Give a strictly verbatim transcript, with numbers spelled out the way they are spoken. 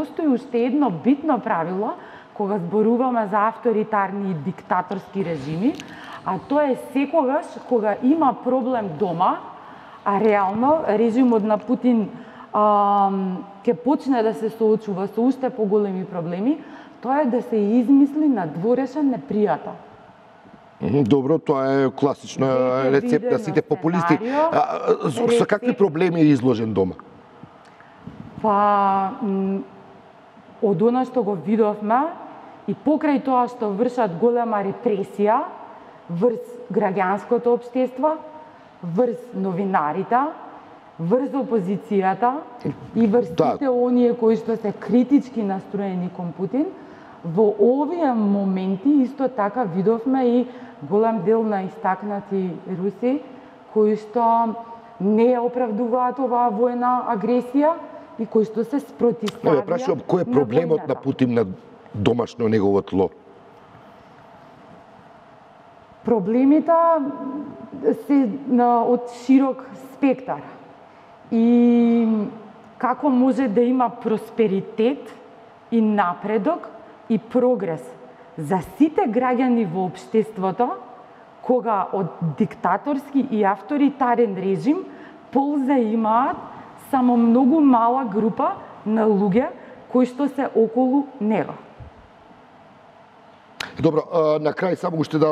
Постои уште едно битно правило кога зборуваме за авторитарни и диктаторски режими, а тоа е секогаш кога има проблем дома, а реално режимот на Путин а, ќе почне да се соочува со уште поголеми проблеми, тоа е да се измисли надворешен непријател. Добро, тоа е класична рецепта, сите популисти. А, со какви проблеми е изложен дома? Па, од она што го видовме и покрај тоа што вршат голема репресија врз граѓанското општество, врз новинарите, врз опозицијата и врз сите оние кои што се критички настроени кон Путин, во овие моменти исто така видовме и голем дел на истакнати руси кои што не ја оправдуваат оваа војна агресија и кои што се спротивставија. Ја прашувам, кој е проблемот на Путин на домашно негово тло? Проблемите се од широк спектар. И како може да има просперитет и напредок и прогрес за сите граѓани во општеството, кога од диктаторски и авторитарен режим полза имаат само многу мала група на луѓе кои што се околу него. Добро, на крај само уште да